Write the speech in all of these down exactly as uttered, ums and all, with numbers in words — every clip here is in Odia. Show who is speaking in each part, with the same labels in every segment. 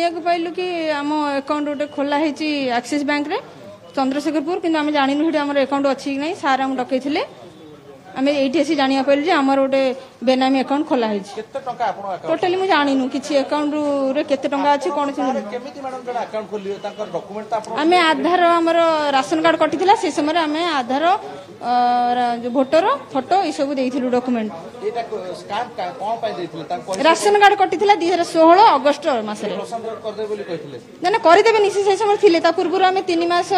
Speaker 1: ଜାଣିବାକୁ ପାଇଲୁ କି ଆମ ଆକାଉଣ୍ଟ ଗୋଟେ ଖୋଲା ହେଇଛି ଆକ୍ସିସ୍ ବ୍ୟାଙ୍କରେ ଚନ୍ଦ୍ରଶେଖରପୁର, କିନ୍ତୁ ଆମେ ଜାଣିନୁ ସେଠି ଆମର ଆକାଉଣ୍ଟ ଅଛି କି ନାହିଁ। ସାର୍ ଆମକୁ ଡକେଇଥିଲେ, ଆମେ ଏଇଠି ଆସି ଜାଣିବାକୁ ପାଇଲୁ ଯେ ଆମର ଗୋଟେ ବେନାମୀ ଆକାଉଣ୍ଟ ଖୋଲା ହେଇଛି।
Speaker 2: କେତେ ଟଙ୍କା ଆପଣଙ୍କ ଆକାଉଣ୍ଟ?
Speaker 1: ଟୋଟାଲି ମୁଁ ଜାଣିନୁ କିଛି ଆକାଉଣ୍ଟରେ କେତେ ଟଙ୍କା ଅଛି, କଣ ଅଛି।
Speaker 2: କେମିତି ମ୍ୟାଡାମ ଜଣେ ଆକାଉଣ୍ଟ ଖୋଲିବେ? ତାଙ୍କର ଡକୁମେଣ୍ଟ ତ ଆପଣ
Speaker 1: ଆମେ ଆଧାର, ଆମର ରାସନ କାର୍ଡ କଟିଥିଲା, ସେ ସମୟରେ ଆମେ ଆଧାର, ଯୋଉ ଭୋଟର ଫଟୋ ଏସବୁ ଦେଇଥିଲୁ ଡକୁମେଣ୍ଟ।
Speaker 2: ଏଇଟା ସ୍କାମ କଣ ପାଇଁ ଦେଇଥିଲେ ତାଙ୍କୁ?
Speaker 1: ରାସନ କାର୍ଡ କଟିଥିଲା ଦୁଇ ହଜାର ଷୋହଳ ଅଗଷ୍ଟ ମାସରେ।
Speaker 2: ପ୍ରଶାନ୍ତ କରିଦେବେ ବୋଲି କହିଥିଲେ?
Speaker 1: ନା ନା, କରିଦେବେନି, ସେ ସେଇ ସମୟରେ ଥିଲେ। ତା ପୂର୍ବରୁ ଆମେ ତିନି ମାସ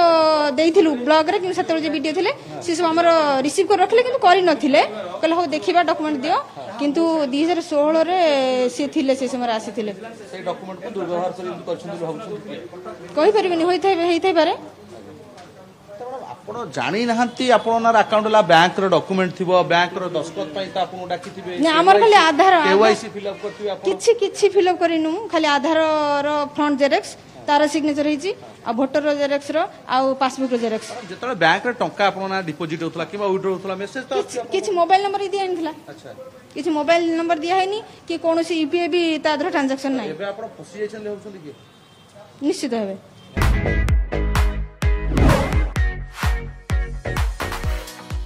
Speaker 1: ଦେଇଥିଲୁ ବ୍ଲକରେ, କିନ୍ତୁ ସେତେବେଳେ ଯେ ବିଡିଓ ଥିଲେ ସେ ସବୁ ଆମର ରିସିଭ୍ କରି ରଖିଲେ, କିନ୍ତୁ କରିନଥିଲେ। କହିଲେ ହଉ ଦେଖିବା, ଡକୁମେଣ୍ଟ ଦିଅ। କିନ୍ତୁ ଦୁଇ ହଜାର ଷୋହଳରେ ସିଏ ଥିଲେ, ସେ ସମୟରେ ଆସିଥିଲେ।
Speaker 2: ସେଇ ଡକୁମେଣ୍ଟକୁ ଦୁର୍ବ୍ୟବହାର କରି ଏମିତି କରିଛନ୍ତି ବୋଲି ଭାବୁଛନ୍ତି କି?
Speaker 1: କହିପାରିବେନି, ହୋଇଥାଇ ହେଇଥାଇପାରେ।
Speaker 2: ତ ମ୍ୟାଡ଼ାମ, ଆପଣ ଜାଣିନାହାନ୍ତି ଆପଣଙ୍କ ନାଁରେ ଆକାଉଣ୍ଟ ହେଲା, ବ୍ୟାଙ୍କର ଡକୁମେଣ୍ଟ ଥିବ, ବ୍ୟାଙ୍କର ଦସ୍ତଖତ ପାଇଁ ତ ଆପଣଙ୍କୁ ଡାକିଥିବେ?
Speaker 1: ନା, ଆମର ଖାଲି ଆଧାର।
Speaker 2: କେୱାଇସି ଫିଲ୍ଅପ୍ କରିଥିବେ ଆପଣ?
Speaker 1: କିଛି କିଛି ଫିଲ୍ଅପ୍ କରିନୁ। ଖାଲି ଆଧାରର ଫ୍ରଣ୍ଟ ଜେରକ୍ସ, ତାର ସିଗ୍ନେଚର ହେଇଛି, ଆଉ ଭୋଟର ଜେରକ୍ସର ଆଉ ପାସବୁକର ଜେରକ୍ସ।
Speaker 2: ଯେତେବେଳେ ବ୍ୟାଙ୍କରେ ଟଙ୍କା ଆପଣଙ୍କ ନାଁ ଡିପୋଜିଟ୍ ହଉଥିଲା କିମ୍ବା ୱିଡ୍ରୋ ହଉଥିଲା, ମେସେଜ ତ
Speaker 1: କିଛି କିଛି ମୋବାଇଲ ନମ୍ବର ଦିଆ ହେଇନଥିଲା।
Speaker 2: ଆଚ୍ଛା
Speaker 1: କିଛି ମୋବାଇଲ ନମ୍ବର ଦିଆ ହେଇନି କି କୌଣସି ୟୁପିଆଇ ବି ତା ଦେହରେ ଟ୍ରାଞ୍ଜାକ୍ସନ ନାହିଁ।
Speaker 2: ଏବେ ଆପଣ ଫସି ଯାଇଛନ୍ତି ଭାବୁଛନ୍ତି କି?
Speaker 1: ନିଶ୍ଚିତ ଭାବେ।